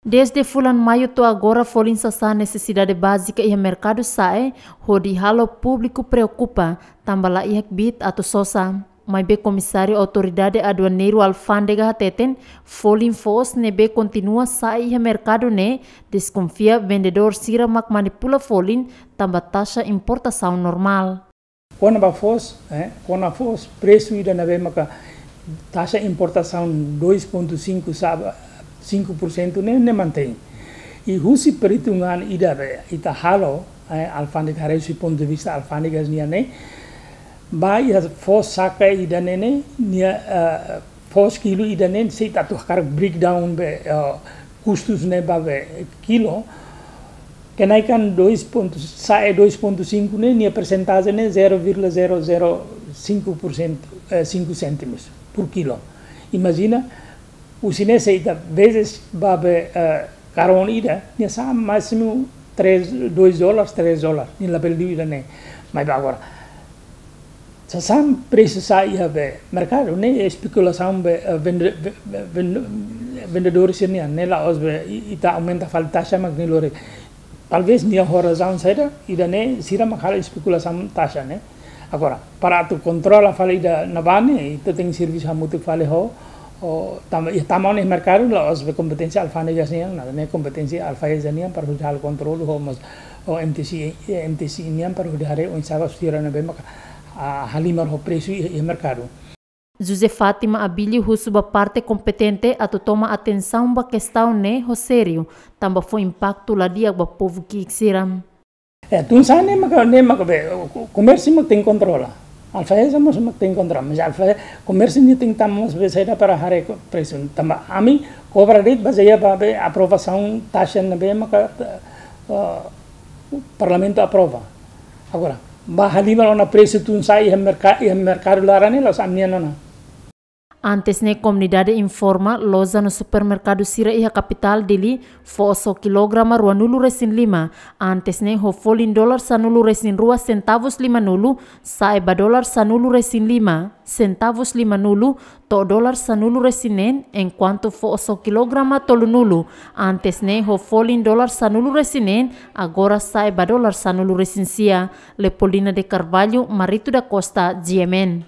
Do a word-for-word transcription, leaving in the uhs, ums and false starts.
Dezde fulan Maiu to'o agora folin sasán nesesidade bázika iha merkadu sa'e, hodi halo públiku preokupa, tanba la iha kbiit atu sosa. Maibé Komisáriu Autoridade Aduaneiru Alfándega hateten, folin foos ne'ebé kontinua sa'e iha merkadu ne'e, deskonfia vendedór sira mak manipula folin, tanba taxa importasaun normál. Kona-ba foos, eh, kona foos, presu ida ne'ebé maka taxa importasaun dois ponto cinco sa-, cinco por cento ne'e, ne'e mantein. I husi perhitungan ida be ita halo, eh, alfándega, haree husi pontu de vista alfándegas nian ne'e, ba iha foos saka ida ne'e ne'e, nia, eh, foos kilu ida ne'e, se ita atu hakarak breakdown be, eh, kustus ne'e ba be kilo, kenaikan dois ponto, sa'e dois ponto cinco ne'e, nia persentajen ne'e zero vírgula zero zero cinco por cento, eh, cinco cêntimos por kilo. Imajina, husi ne'e se ita vezes ba be, eh, karón ida, nia sa'e másimu três, dois dólares, três dólares, nia labele liu ida ne'e. Maibé agora, sasán presu sa'e iha be merkadu ne'e espekulasaun be, eh, vende-, ve-, ve-, vende-, vendedór sira nian, ne'e la'ós be i-, ita aumenta fali taxa mak nia lori. Talvés nia ho razaun saida, ida ne'e sira mak halo espekulasaun taxa ne'e. Agora, para atu kontrola fali ida ne'ebá ne'e, ita tenke servisu hamutuk fali ho, ho, tanba, iha, tanba iha merkadu la'ós be kompeténsia alfándegas nian, ne'e kompeténsia AIFAESA nian para hodi halo kontrolu ho mós, ho M T C, eh, M T C nian para hodi haree oinsá ba sira ne'ebé maka, ah, halimar ho presu iha, iha merkadu. José Fátima Abílio husu ba parte kompetente atu toma atensaun ba kestaun ne'e ho sériu, tanba fó impaktu la di'ak ba povu ki'ik sira. Eh, tun sa'e ne'e maka, ne'e maka be, ko-, komérsiu mak tenke kontrola. AIFAESA mós mak tenke kontrola. Mas AIFAESA, komérsiu nia tenke tama mós be saida para haree ko-, presu. Tanba ami kobra de'it bazeia ba be aprovasaun taxa ne'ebé maka, eh, Parlamentu aprova. Agora, ba halimar ona presu tun sa'e iha merka-, iha merkadu laran ne'e la'ós ami-nian ona. Antes ne'e komunidade informa, loja no supermerkadu sira iha kapitál Dili, foos ho kilograma ruanulu-resin-lima, antes ne'e ho folin dolar sanulu-resin-rua sentavus limanulu, sa'e ba dolar sanulu-resin-lima, sentavus limanulu, to'o dolar sanulu-resin-neen, enkuantu foos ho kilograma tolunulu, antes ne'e ho folin dolar sanulu-resin-neen, agora sa'e ba dolar sanulu-resin-sia. Leopoldina de Carvalho, Marito da Costa, G M N.